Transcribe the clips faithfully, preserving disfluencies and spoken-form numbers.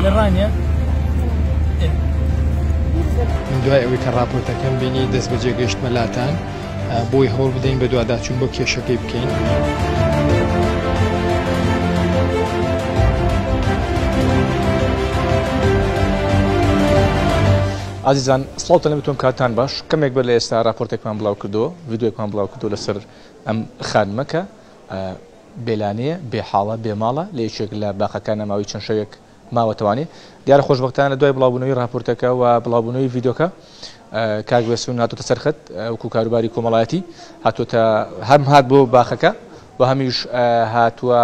لە ڕانیە. من دوای ئەوەی کە راپۆرتەکەم بینی دەست بەجێ گەیشتمە لاتان بۆی هەوڵ بدەین بە دوواداچوون بۆ کێشەکەی بکەین. ئازیزان سڵاوتان لە بتۆم کاتان باش. کەمێک بەر لە ئێستا راپۆرتێکمان بڵاو کردەوە، ڤیدیۆیەکمان بڵاو کردەوە لەسەر ئەم خانمە کە بێلانەیە، بێحاڵە، بێماڵە، لە یەکێک لە باخەکانە ماوەی چەند شەوێک ماوەتەوانێ. دیارە خۆشبەختانە لە دوای بڵاوبوونەوەی راپۆرتەکە و بڵاوبوونەوەی ڤیدیۆکە کاک بێسون هاتۆتە سەرخەت وەکو کاروباری کۆمەڵایەتی، هاتۆتە هەم هات بۆ باخەکە و هەمیش هاتووە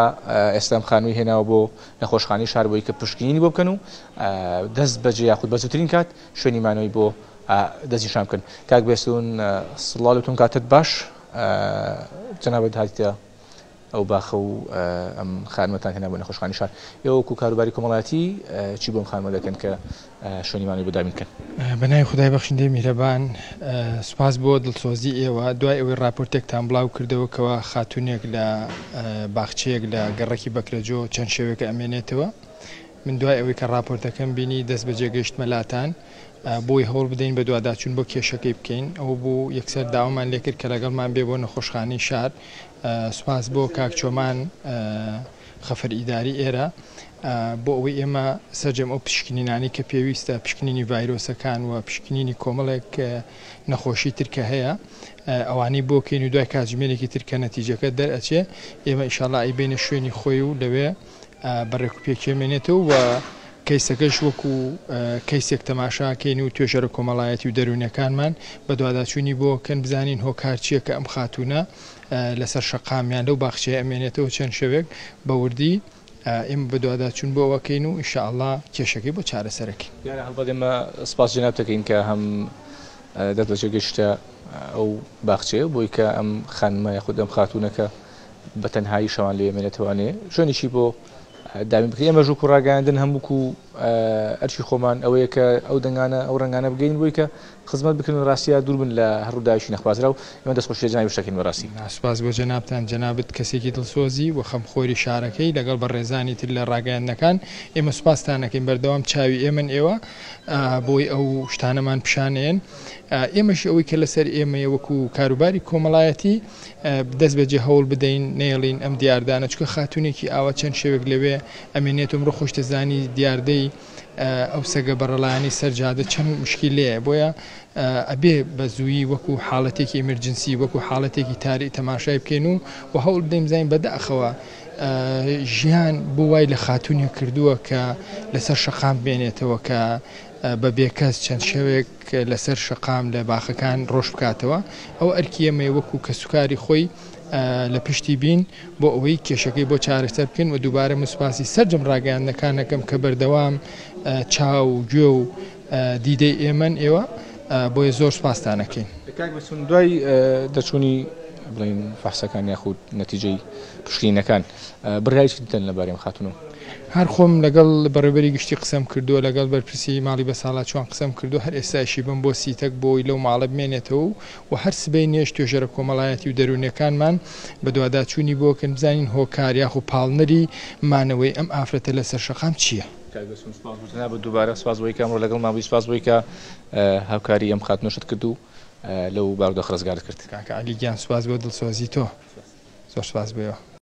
ئێستا ئەم خانووی هێناوە بۆ نەخۆشخانەی شار بۆی کە پشکنینی بۆ بکەن و دەست بەجێ یاخود بە زووترین کات شوێنی مانەوەی بۆ دەستنیشان بکەن. کاک بێسون سڵاو لەتون، کاتت باش. جەنابت هاتیتە ئەو باخە و ئەم خانمەتان هێنا بۆ نەخۆشخانەی شار. ئێوە وەکو کاروباری کۆمەڵایەتی چی بۆ ئەم خانمە دەکەن کە شوێنی مانەوەی بۆ دابین بکەن؟ بە ناوی خدای بەخشندەی میهرەبان، سوپاس بۆ دڵسۆزی ئێوە. دوای ئەوەی راپۆرتێکتان بڵاو کردەوە کەوا خاتونێک لە باخچەیەک لە گەڕەکی بەکرەجۆ چەند شەوێکە ئەمێنێتەوە، من دوای ئەوەی کە راپۆرتەکەم بینی دەست بەجێ گەیشتمە لاتان بۆی هەوڵ بدەین بە دوواداچوون بۆ کێشەکەی بکەین. ئەو بوو یەکسەر داوامان لێکرد کە لەگەڵمان بێ بۆ نەخۆشخانەی شار. سوپاس بۆ کاک چۆمان خەفەر ئیداری ئێرە بۆ ئەوەی ئێمە سەرجەم ئەو پشکنینانی کە پێویستە، پشکنینی ڤایرۆسەکان و پشکنینی کۆمەڵێک نەخۆشی ترکە هەیە ئەوانەی بۆکەین و دوای کاتژمێرێکی ترکە نەتیجەکە دەرئەچێ ئێمە ئینشاڵڵا ئەیبەینە شوێنی خۆی و لەوێ بە ڕێکوپێکێمێنێتەوە و کەیسەکەش وەکو کەیسێک تەماشاکەین و توێژەرە کۆمەڵایەتی و دەروونیەکانمان بە دوواداچوونی بۆ کەن بزانین هۆکار چییە کە ئەم خاتوونە لەسەر شەقامیان لەو باخچەیە ئەمێنێتەوە چەند شەوێک بە وردی ئێمە بە دوواداچوون بۆ ئەوەکەین و ئینشاءڵڵا کێشەکەی بۆ چارەسەرەکەین. دیارە هەڵبەت ئێمە سپاس جەناب دەکەین کە هەم دەست بەجێ گەیشتە ئەو باخچەیە بۆی کە ئەم خانمە یاخود ئەم خاتوونەکە بە تەنهایی شەوان لێ ئەمێنێتەوانێ شوێنێکی بۆ دابین بکرێت. ئێمە ژووک و ڕاگەیاندن هەمووکو ئەرکی خۆمان ئەوەیە کە ئەو دەنگانە ئەو ڕەنگانە بگەین بۆی کە خزمەت بکەن و ڕاستیە دوور بن لە هەر ڕووداوێکی نەخوازراو. ئێمە دەستخۆشی لە جەنابی شتەکەین بەڕاستی. سوپاس بۆ جەنابتان. جەنابت کەسێکی دڵسۆزی و خەمخۆری شارەکەی لەگەڵ بەڕێزانی تر لە ڕاگەیاندنەکان. ئێمە سوپاستانەکەین، بەردەوام چاوی ئێمن ئێوە بۆی ئەو شتانەمان پیشانێن. ئێمەش ئەوەی کە لەسەر ئێمەیە وەکو کاروباری کۆمەڵایەتی دەست بەجێ هەوڵ بدەین نێڵین ئەم دیاردانە، چونکە خاتونێکی ئاوا چەند شەوێک لەوێ ئەمێنێت و ئەمڕۆ خۆشتەزانی دیاردەی ئەو سەگە بەڕەڵایانی سەرجادە چەند مشکلەیە. بۆیە ئەبێ بە زوویی وەکو حاڵەتێکی ئیمرجنسی وەکو حاڵەتێکی تاری تەماشای بکەین و و هەوڵ بدەین بزانین بەداخەوە ژیان بۆ وای لە خاتونێک کردووە کە لەسەر شەقام بێنێتەوە، کە بە بێکەس چەند شەوێک لەسەر شەقام لە باخەکان ڕۆژ بکاتەوە. ئەو ئەرکی ئێمەیە وەکو کەسوکاری خۆی لە پشتی بین بۆ ئەوەی کێشەکەی بۆ چارەسەر بکەین. و دووبارە من سوپاسی سەرجەم ڕاگەیاندنەکانەکەم کە بەردەوام چاو و گوێ و دیدەی ئێمەن ئێوە، بۆیە زۆر سوپاستانەکەین. کاک بەسون، دوای دەرچوونی بڵین فەحسەکان یاخود نەتیجەی پشکنینەکان بڕیاری چی دەدەن لەبارەی ئەم خاتوونەوە؟ هەر خۆم لەگەڵ بەڕێوەبەری گشتی قسەم کردووە، لەگەڵ بەرپرسی ماڵی بەساڵاچوان قسەم کردووە، هەر ئێستاشی بم بۆ سیتەک بۆی لەو ماڵە بمێنێتەوە و هەر سبەی نێش توێژەرە کۆمەڵایەتی و دەروونیەکانمان بە دوواداچوونی بۆکەن بزانین هۆکار یاخو پاڵنەری مانەوەی ئەم ئافرەتە لەسەر شەقام چییە. کاک بەسون سپاس بۆ جەنابت، دووبارە سپاس بۆی کە ئەمڕۆ لەگەڵمان بووی، سپاس بۆی کە هاوکاری ئەم خاتوونەشت کرد و لەو بارودۆخە ڕزگارت کرد. کاکە عەلی گیان سپاس بۆ دڵسۆزی تۆ، زۆر سپاس بۆیەوە.